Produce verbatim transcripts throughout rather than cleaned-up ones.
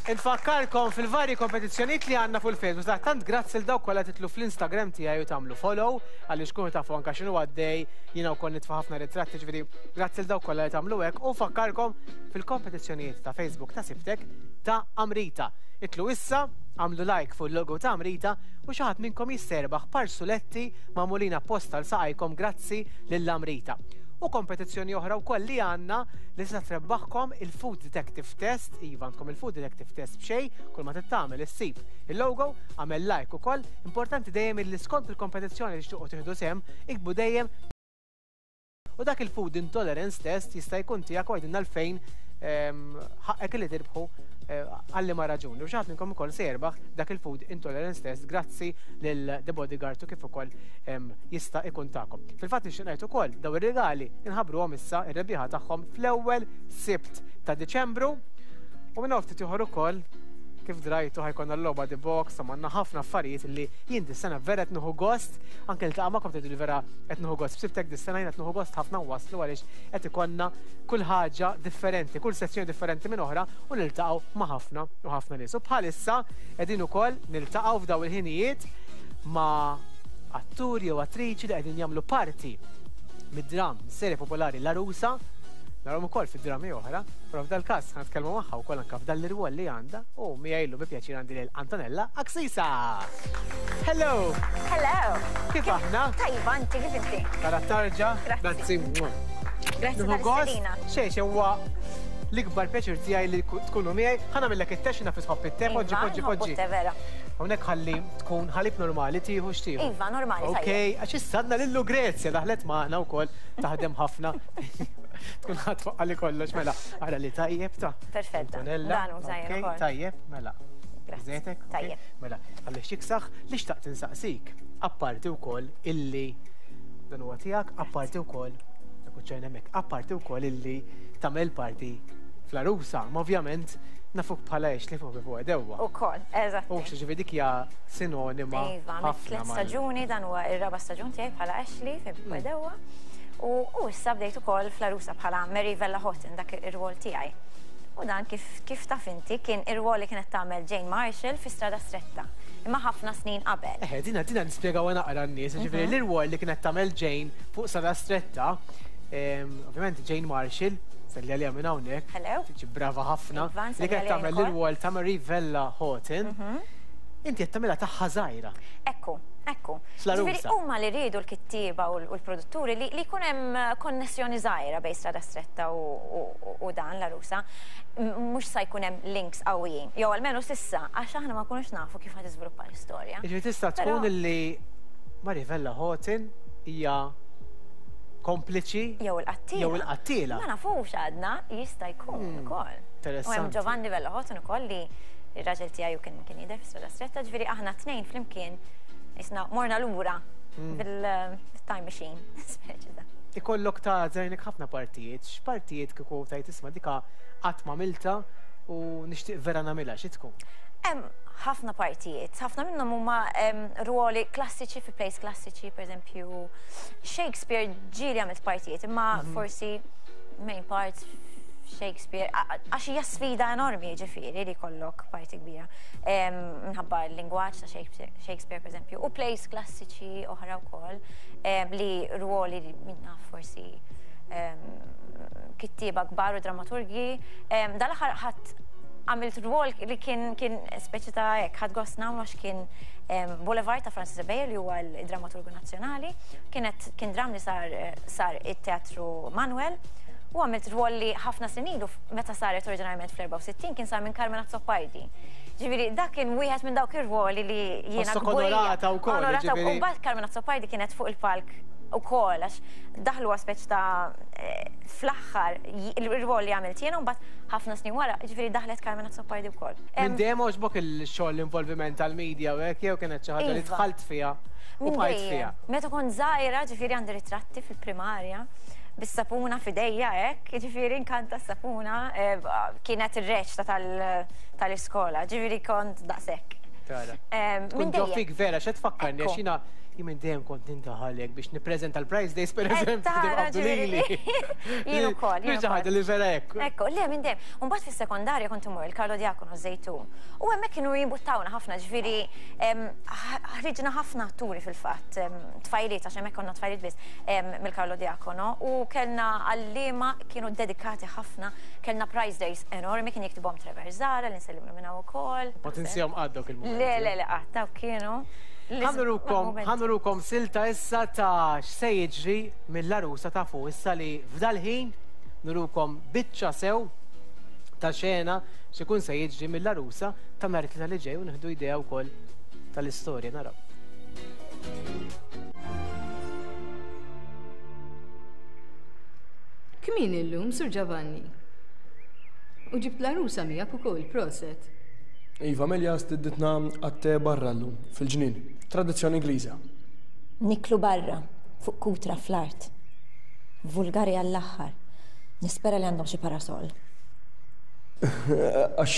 Infakkarkom fil-vari kompetizzjonijiet li għandna fuq il-Facebook. Tant grazzi lil dawk kollha titilgħu fl-Instagram tiegħi u tagħmlu follow għaliex kunu tafu anke x'inhu għaddej, jiena wkoll nitfa' ħafna ritratti, ġifieri grazzi lil dawk kollha li tagħmlu hekk u fakkarkom fil-kompetizzjonijiet ta' Facebook ta' Sibtek ta' Amrita. Itilgħu issa, għamlu like fuq il-logo ta' Amrita u xi ħadd minnkom jista' jerbaħ par suletti magħmulin apposta għal saqajkom grazzi lil Amrita. U kompetizzjoni oħra wkoll li għandna li tista' trebbaħkom il-Food Detective Test, iva, għandkom il-Food Detective Test b'xejn, kull ma tagħmel issib il-logo, għamel like ukoll, importanti dejjem li skont il-kompetizzjoni li tixtiequ tieħdu sehem, iktbu dejjem u dak il-Food Intolerance Test jista' jkun tiegħek u għidilna għalfejn ħaqqek li tirbħu, għal liema raġuni. U xi ħadd minnkom ukoll se jerbaħ dak il-Food Intolerance Test grazzi lil The Bodyguard u kif ukoll jista' ikun tagħkom. Fil-fatt nixtieq ngħid ukoll daw ir-regali inħabbruhom issa ir-rebbieħa tagħhom fl-ewwel Sibt ta' Diċembru u minn ftit ieħor ukoll kif drajtu ħa jkollna l-logħba The Box, għandna ħafna affarijiet li jien dis-sena vera qed nieħu gost, anke niltaqa' magħkom tgħidu li vera qed nieħu gost. B'Sibtek dis-sena jien qed nieħu gost ħafna waslu għaliex qed ikollna kull ħaġa differenti, kull sezzjoni differenti minn oħra u niltaqgħu ma' ħafna u ħafna nies. U bħalissa qegħdin ukoll niltaqgħu f'daw il-ħinijiet ma' atturi jew attriċi li qegħdin jagħmlu parti mid-dram serje popolari L-Għarusa. Narawhom ukoll fid-drami oħra, però f'dal każ ħa nitkellmu magħha wkoll anke f'dal l-irwol li għandha u miegħi llum bi pjaċir għandi lil Antonella Axisa. Hello! Hello! Kif aħna? Tajba, inti kif inti? Tara tarġa? Grazzi. Grazzi Nieħu gost. tal-istedina. Xejn, xejn, huwa l-ikbar pjaċir tiegħi li tkunu miegħi. Ħa nagħmillek it-te, naf tħobb it-te, poġġi, Iva, poġġi, nħobbu poġġi. t-te, vera. Hawnhekk ħalli tkun ħalib normali, tieħu x'tieħu? Iva, normali, Ok, tajjeb. għax issa għandna lil Lucrezia daħlet magħna wkoll taħdem ħafna. Tkun ħadd li kollox, mela. Ara li tajjeb ta' Perfetta. Antonella. Dan hu tajjeb Ok, ukoll. tajjeb, mela. Grazzi. Żejtek, ok. Tajjeb. Mela, għalli xiksaħ li xtaqt insaqsik. Apparti wkoll illi dan huwa tiegħek, apparti wkoll ċajna hemmhekk, apparti wkoll illi tagħmel parti fl-Għarusa, ma ovvjament nafuk bħala Ashley fuq Ħbieb u Għedewwa. Ukoll, eżatt. U ġifieri dik hija sinonima Iva, għamilt ħafna tliet mal- staġuni, dan huwa ir-raba' staġun tiegħi bħala Ashley fi Mm. Għedewwa. U u issa bdejt ukoll fl-Għarusa bħala Mary Vella Houghton, dak ir-rwol tiegħi. U dan kif kif taf inti kien ir-rwol li kienet tagħmel Jane Marshall fi Strada Stretta. Imma ħafna snin qabel. Eħe, dina dina nispjegaw naqra n-nies, ġifieri Mhm. l-irwol li kienet tagħmel Jane fuq Strada Stretta, em, ovvjament Jane Marshall, selli għalija minn hawnhekk, Hello. tiġi brava ħafna, Iva, li nselli kienet għalija tagħmel ukoll. l-irwol ta' Mary Vella Houghton, Mhm. inti qed tagħmilha tagħha żgħira. Ekku, ekku. Fl-Għarusa. Ġifieri huma li riedu l-kittieba u l- u l-produtturi li li jkun hemm konnessjoni żgħira bejn Strada Stretta u, u, u dan L-Għarusa. M- Mhux sa jkun hemm links qawwijin. Jew almenu s'issa, għax aħna ma nkunux nafu kif ħa tiżviluppa l-istorja. Ġifieri tista' Però- tkun illi Mary Vella Houghton hija kompliċi Jew il-qattila. Jew il-qattila. Ma nafux għadna, jista' jkun ukoll. U hemm Interessanti. Giovanni Vella Houghton ukoll li ir-raġel tiegħi kien kien jidher fi Strada Stretta, ġifieri aħna tnejn flimkien isna morna lura bil-time machine, speċi ta' Ikollok ta' żejnek ħafna partijiet, x'partijiet kieku tajt isma' dika qatt m'għamilta u nixtieq vera nagħmilha, xi tkun? Hemm ħafna partijiet, ħafna minnhom huma em, ruoli klassiċi fi plays klassiċi, per eżempju Shakespeare ġieli għamilt partijiet, imma forsi main parts Shakespeare, a- a- għax hija sfida enormi ġifieri li jkollok parti kbira. Em, Minħabba l-lingwaġġ ta' Shakespeare, Shakespeare per eżempju, u plays klassiċi oħra wkoll em, li ruoli li minna forsi em, kittieba kbar u dramaturgi. Em, Dal-aħħar ħadd għamilt rwol li kien kien speċi ta' hekk, ħadt gost nagħmlu għax kien em, Boulevard ta' Francis Ebejer li huwa l-dramaturgu nazzjonali. Kienet kien dram li sar sar it-Teatru Manuel u għamilt rwol li ħafna snin ilu meta saret oriġinarjament fl-erbgħa u sittin kien sar minn Carmen Azzopardi. Ġifieri, dak kien wieħed minn dawk ir-rwoli li jiena Ħossok kburija. onorata wkoll, Onorata ġifieri. u mbagħad Carmen Azzopardi kienet fuq il-palk ukoll għax daħlu speċi ta' eh, fl-aħħar il-rwol li għamilt jiena u mbagħad ħafna snin wara, ġifieri daħlet Carmen Azzopardi wkoll. Minn dejjem għoġbok il-xogħol, l-involviment tal-media u hekk, jew kienet xi ħaġa li Iva. dħalt fiha u Minn bqajt dejjem. fiha? Meta kont żgħira, ġifieri għandi ritratti fil-primarja bis-sapuna f'idejja hekk, ġifieri nkanta s-sapuna, eh, kienet ir-reċta tal-iskola, ġifieri kont daqshekk. Tara. Em, Tkun Minn ġo dejjem. fik vera, x'qed tfakkarni, Ekku. għax jiena Jien minn dejjem kont nindaħalek biex nippreżenta l-Prize Days, per eżempju, tara, qabdu lili. Jien ukoll, jien Mhux xi ħaġa li vera hekk. Ekku, le minn dejjem. U mbagħad fis-sekondarja kont imur il-Carlo Diacono Żejtun. U hemmhekk kienu jimbuttawna ħafna, ġifieri em, ħ- ħriġna ħafna atturi fil-fatt, em, tfajliet, għax hemmhekk konna tfajliet biss em, mill-Carlo Diacono. U kellna għalliema kienu dedikati ħafna, kellna Prize Days enormi, kien jiktibhom Trevor Zara, li nsellimlu minn hawn ukoll. Ma tinsihom qatt dawk il-mumenti. Le, le, le, qatt, dawk kienu. Ħa nurukom, ħa nurukom silta issa ta' x'se jiġri mill-Għarusa ta' fuq issa li f'dal-ħin nurukom biċċa sew ta' xena x'ikun se jiġri mill-Għarusa ta' nhar it-Tlieta li ġej u nieħdu idea wkoll tal-istorja naraw. Kmin illum, Sur Giovanni? U ġibt l-għarusa miegħek ukoll, proset. Iva, Amelia stednitna għat-te barra llum, fil-ġnien. Tradizzjoni Ingliża. Niklu barra, fuq kutra fl-art. Vulgari għall-aħħar. Nispera li għandhom xi parasol. Għax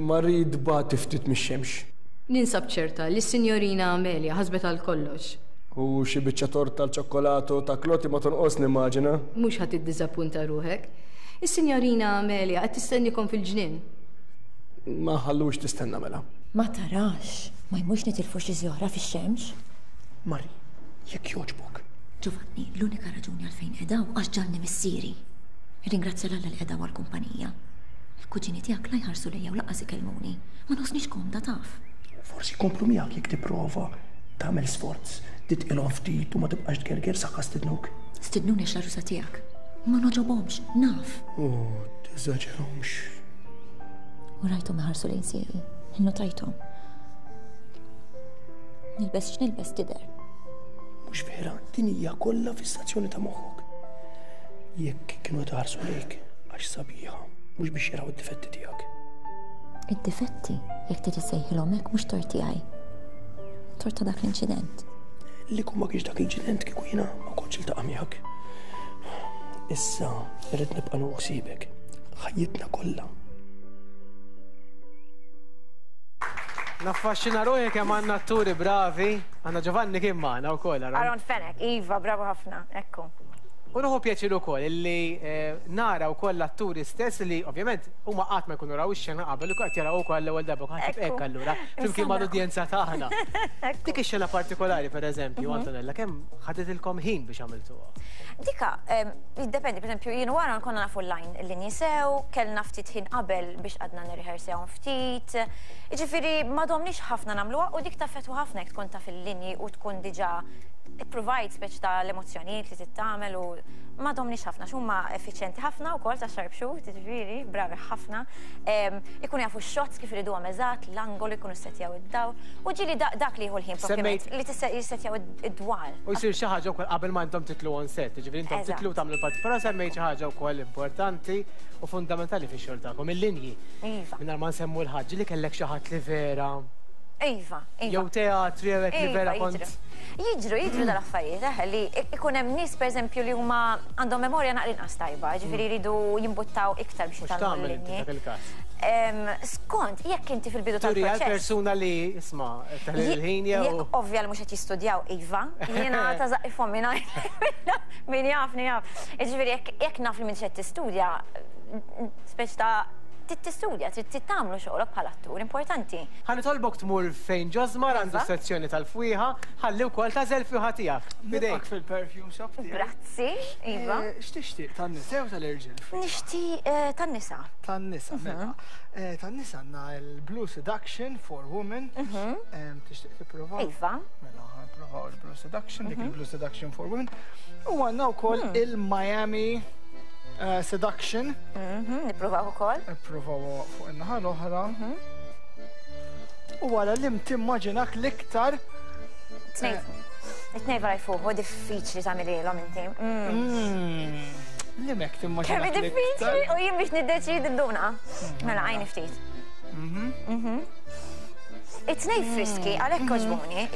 Marie tbati ftit mix-xemx. Ninsab ċerta li s-sinjorina Amelia ħasbet għal kollox. U xi biċċa torta tal-ċokkolato ta' Kloti ma tonqos nimmaġina. Mhux ħa tiddiżappunta ruħek. Is-sinjorina Amelia qed tistennikom fil-ġnien. Ma ħallux tistenna mela. Ma tarax, ma jmux nitilfu xi żjora fix-xemx. Mari, jekk jogħġbok. Giovanni, l-unika raġuni għalfejn qedaw għax ġalni missieri. Ringrazzja l Alla li qedaw għall-kumpanija. Il-kuġini tiegħek la jħarsu lejja u lanqas ikellmuni. Ma nħossnix komda taf. Forsi jkomplu miegħek jekk tipprova tagħmel sforz, titqilhom ftit u ma tibqax tgerger saħħa stidnuk. Stidnuni għax l-għarusa tiegħek. Ma noġobhomx, naf. Oh, teżaġerhomx. U rajthom iħarsu lejn sieqi, innotajthom. Nilbes x'nilbes tidher. Mhux vera, din hija kollha fissazzjoni ta' moħħok. Jekk kienu tħarsu lejk għax sabiħa, mhux biex jaraw id-difetti tiegħek. Id-difetti, jekk trid issejħilhom hekk mhux tort tiegħi. Tort ta' dak l-inċident. Li ma kienx dak l-inċident kieku jiena ma kontx iltaqa' miegħek. Issa irrid nibqa' nieħu ħsiebek. Ħajjitna kollha. Naffaxxina ruħi kemm għandna atturi bravi, għandna Giovanni kien magħna wkoll. Aaron Fenech, iva, bravo ħafna, ekku. U nieħu pjaċir ukoll illi nara wkoll l-atturi stess li ovvjament huma qatt ma jkunu raw ix-xena qabel u qed jaraw ukoll l-ewwel darba ħadd hekk allura flimkien mal-udjenza tagħna. Dik ix-xena partikolari pereżempju, Antonella, kemm ħaditilkom ħin biex għamiltuha? Dika, jiddependi, pereżempju, jien wara konna nafu l-line l-linji sew, kellna ftit ħin qabel biex għadna nirriħersewhom ftit. Jiġifieri ma domniex ħafna nagħmluha u dik taffettwa ħafna jekk tkun taf il-linji u tkun diġà ipprovajt speċ ta' l-emozzjonijiet li tittamel u ma domniex ħafna, x'huma effiċjenti ħafna wkoll ta' sharpshoot, jiġifieri, bravi ħafna. Ikunu jafu x-shots kif iriduhom eżatt, l-angolu jkunu ssettjaw id-dawl u ġieli dak li jieħu l-ħin propjament li jissettjaw id-dwal. U jsir xi ħaġa wkoll qabel ma intom titlu on set, jiġifieri intom titlu tagħmlu l-parti, però semmejt xi ħaġa wkoll importanti u fundamentali fix-xogħol tagħkom, il-linji. Iva. Mingħajr ma nsemmu l-ħaġa li kellek xi ħadd li vera. Iva, iva. Jew teatri jew hekk li vera kont. Jiġru, jiġru dal-affarijiet, eh, li ikun hemm nies pereżempju li huma għandhom memorja naqra inqas tajba, ġifieri jridu jimbuttaw iktar biex jitgħallmu l-linji. Skont, jekk inti fil-bidu tal-proċess. Turi persuna li isma' tal-ħin jew. Jekk ovvja li mhux qed jistudjaw, iva, jiena ta' żaqqi fommi ngħid min jafni jaf. Ġifieri jekk naf li minn qed tistudja, speċ ta' tistudja, trid tagħmlu xogħolok bħala attur importanti. Ħa nitolbok tmur fejn Ġosmar għandu sezzjoni tal-fwieħa, ħalli wkoll tagħżel fwieħa tiegħek. Bidejk fil-perfume shop tiegħek. Grazzi, iva. X'tixtieq tan-nisa jew tal-irġiel? Nixtieq tan-nisa. Tan-nisa, mela. Tan-nisa għandna l-Blue Seduction for Women. Tixtieq tipprova? Iva. Mela, ħa nipprovaw il-Blue Seduction, dik il-Blue Seduction for Women. U għandna wkoll il-Miami Seduction. Nippruvaw ukoll. Nippruvaw fuq in-naħa l-oħra. U wara li timmaġinak l-iktar. It-tnejn vera jfuħu diffiċli tagħmililhom inti. Li mek timmaġinak. Kemm diffiċli u jien biex niddeċidi nduna. Mela għajni ftit. It-tnejn friski, għalhekk għoġbuni,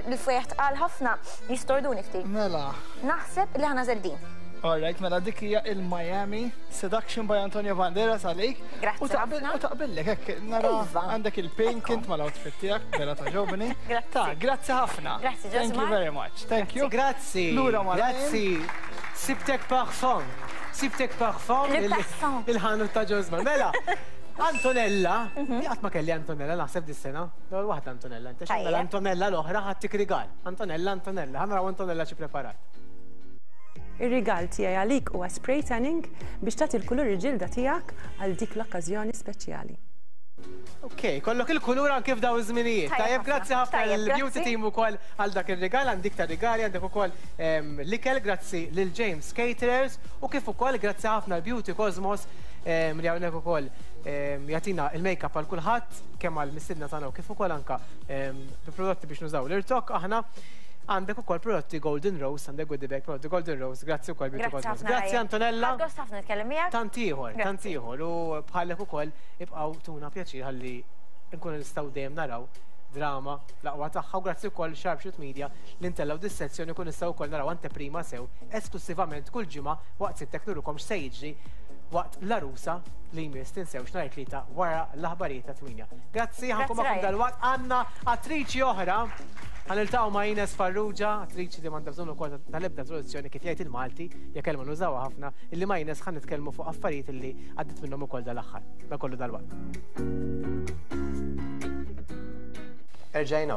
il-fwieħ tqal ħafna jistorduni ftit. Mela. Naħseb li ħa nagħżel din. All right, mela dik hija il-Miami Seduction by Antonio Banderas għalik. Grazzi U taqbel ħafna. u taqbillek hekk nara Iva. għandek il-pink int mal-outfit tiegħek, vera togħġobni. Grazzi. Ta, grazzi ħafna. Grazzi, Thank you Josmar. very much. Thank you. Grazzi. Lura ma' Grazzi. Sibtek parfum. Sibtek parfum. Le il- parfum. Il-ħanut ta' Josmar. Mela, Antonella, li qatt ma kelli Antonella, naħseb dis-sena. L-ewwel waħda Antonella, inta Tajjeb. mela Antonella l-oħra ħa ttik rigal. Antonella, Antonella, ħa naraw Antonella xi preparat. Ir-rigal tiegħi għalik huwa spray tanning biex tagħti l-kulur il-ġilda tiegħek għal dik l-okkażjoni speċjali. Ok, kollok il-kulur anke f'daw iż-żminijiet. Tajjeb Tajjeb, grazzi ħafna Tajjeb, l-beauty grazzi. team ukoll għal dak ir-rigal, għandik ta' rigali, għandek ukoll em, l-ikel, grazzi lil James Caterers u kif ukoll grazzi ħafna l-Beauty Cosmos em, li hawnhekk ukoll em, jagħtina il-make-up għal kulħadd kemm għal mistiedna tagħna u kif ukoll anka em, bi prodotti biex nużaw l-irtok aħna għandek ukoll prodotti Golden Rose, għandek goodie bag prodotti Golden Rose, grazzi ukoll Beauty Grazzi Cosmos. ħafna. Grazzi Ryan. Antonella. Ħadt gost ħafna nitkellem miegħek. Tant ieħor, tant Grazzi. ieħor u bħalek ukoll ibqgħu tuna pjaċir ħalli nkunu nistgħu dejjem naraw drama l-aqwa tagħha u grazzi wkoll Sharpshoot Media li ntellgħu dis-sezzjoni kun nistgħu wkoll naraw anteprima sew esklusivament kull ġimgħa waqt Sibtek nurukom x'se jiġri waqt l-Għarusa li jmiss tinsewx nhar it-Tlieta wara l-aħbarijiet ta' tmienja. Grazzi, ħa nkun Grazzi, magħkom Ryan. dalwaqt għandna attriċi oħra. Ħa niltaqgħu ma' Ines Farrugia, attriċi li m'għandha bżonn ukoll tal-ebda introduzzjoni kif jgħid il-Malti, hija kelma nużawha ħafna, illi ma' Ines ħa nitkellmu fuq affarijiet illi għaddit minnhom ukoll dal-aħħar. Da kollu dalwaqt. Erġajna.